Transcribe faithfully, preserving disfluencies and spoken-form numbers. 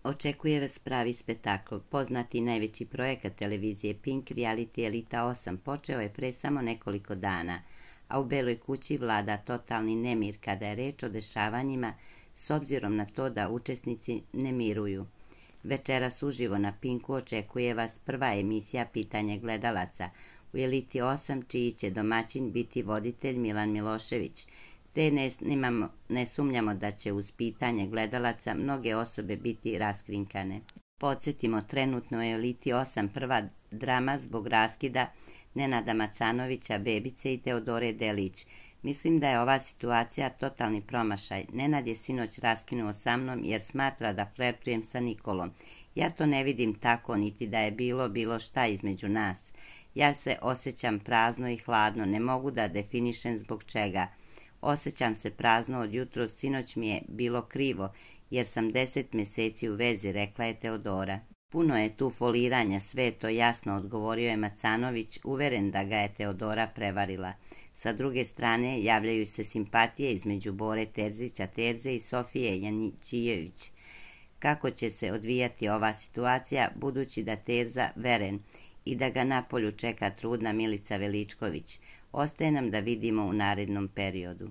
Očekuje vas pravi spektakl. Poznati najveći projekat televizije Pink, reality Elita osam, počeo je pre samo nekoliko dana, a u Beloj kući vlada totalni nemir kada je reč o dešavanjima s obzirom na to da učesnici ne miruju. Večeras uživo na Pinku očekuje vas prva emisija Pitanje gledalaca u Eliti osam, čiji će domaćin biti voditelj Milan Milošević, te ne, nemamo, ne sumnjamo da će uz pitanje gledalaca mnoge osobe biti raskrinkane. Podsjetimo, trenutno je u Eliti osam prva drama zbog raskida Nenada Macanovića, Bebice i Teodore Delić. Mislim da je ova situacija totalni promašaj. Nenad je sinoć raskinuo sa mnom jer smatra da flertujem sa Nikolom. Ja to ne vidim tako, niti da je bilo bilo šta između nas. Ja se osjećam prazno i hladno, ne mogu da definišem zbog čega. Osjećam se prazno od jutros, sinoć mi je bilo krivo, jer sam deset meseci u vezi, rekla je Teodora. Puno je tu foliranja, sve je to jasno, odgovorio je Macanović, uveren da ga je Teodora prevarila. Sa druge strane, javljaju se simpatije između Bore Terzića Terze i Sofije Janićijević. Kako će se odvijati ova situacija, budući da Terza veren i da ga napolju čeka trudna Milica Veličković? Ostaje nam da vidimo u narednom periodu.